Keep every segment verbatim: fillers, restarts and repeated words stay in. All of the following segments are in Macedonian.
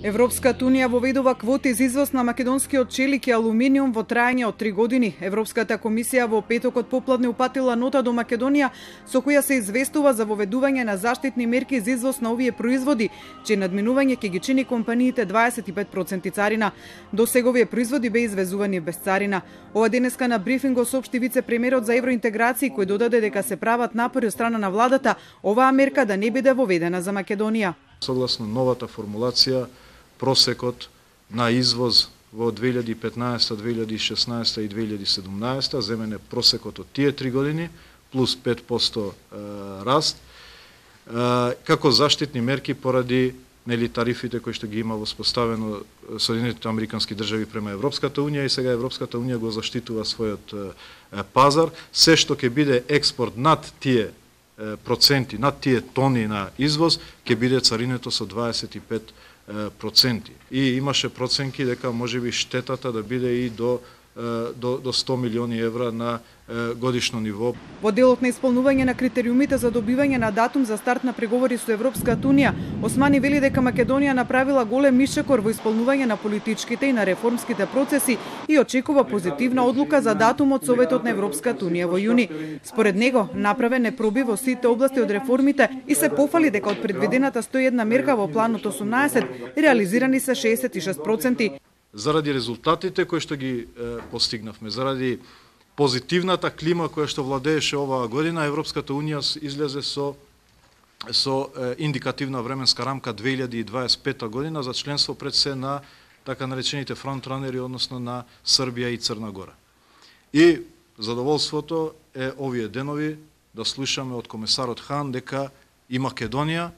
Европската унија воведува квоти за извоз на македонскиот челик и алуминиум во траење од три години. Европската комисија во петокот попладне упатила нота до Македонија со која се известува за воведување на заштитни мерки за извоз на овие производи, чиј надминување ќе ги чини компаниите дваесет и пет проценти царина. Досега овие производи беа извезувани без царина. Ова денеска на брифинг го соопшти вице-премиерот за евроинтеграција, кој додаде дека се прават напори од страна на владата оваа мерка да не биде воведена за Македонија. Согласно новата формулација, просекот на извоз во две илјади и петнаесета, две илјади и шеснаесета и две илјади и седумнаесета, земен е просекот од тие три години, плюс пет проценти раст, како заштитни мерки поради нели тарифите кои што ги има воспоставено Соединетите Американски држави према Европската унија, и сега Европската унија го заштитува својот пазар. Се што ќе биде експорт над тие проценти, над тие тони на извоз, ќе биде царинето со дваесет и пет проценти. И имаше проценки дека можеби штетата да биде и до до до сто милиони евра на годишно ниво. Во делот на исполнување на критериумите за добивање на датум за старт на преговори со Европската унија, Османи вели дека Македонија направила голем ишекор во исполнување на политичките и на реформските процеси и очекува позитивна одлука за датум од Советот на Европската унија во јуни. Според него, направен е пробив во сите области од реформите и се пофали дека од предвидената сто и една мерка во планот осумнаесет, реализирани се шеесет и шест проценти. Заради резултатите кои што ги е, постигнавме, заради позитивната клима која што владееше оваа година, Европската унија излезе со со е, индикативна временска рамка две илјади и дваесет и пета година за членство пред се на така наречените фронтранери, односно на Србија и Црна Гора. И задоволството е овие денови да слушаме од комесарот Хан дека и Македонија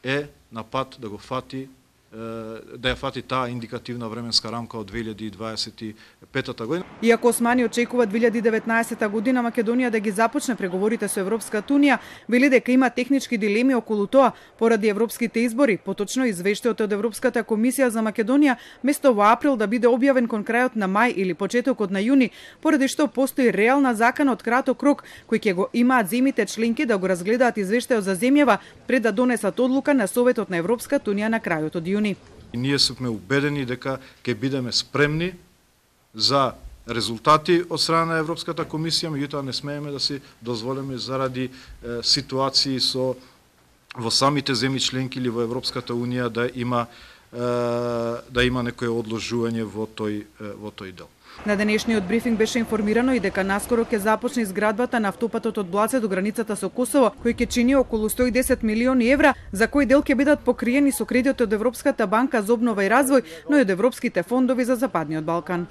е на пат да го фати да ја фати таа индикативна временска рамка од две илјади и дваесет и пета година. Иако Османи очекува две илјади и деветнаесета година Македонија да ги започне преговорите со Европската унија, вели дека има технички дилеми околу тоа поради европските избори, поточно извештајот од Европската комисија за Македонија место во април да биде објавен кон крајот на мај или почетокот на јуни, поради што постои реална закана од краток рок кој ќе го имаат земите членки да го разгледаат извештајот за земјава пред да донесат одлука на Советот на Европската унија на крајот од јуни. И ние сме убедени дека ќе бидеме спремни за резултати од страна на Европската комисија, меѓутоа не смееме да си дозволиме заради е, ситуации со во самите земји членки или во Европската унија да има е, да има некое одложување во тој во тој дел. На денешниот брифинг беше информирано и дека наскоро ќе започне изградбата на автопатот од Блаце до границата со Косово, кој ќе чини околу сто и десет милиони евра, за кој дел ќе бидат покриени со кредит од Европската банка за обнова и развој, но и од европските фондови за Западниот Балкан.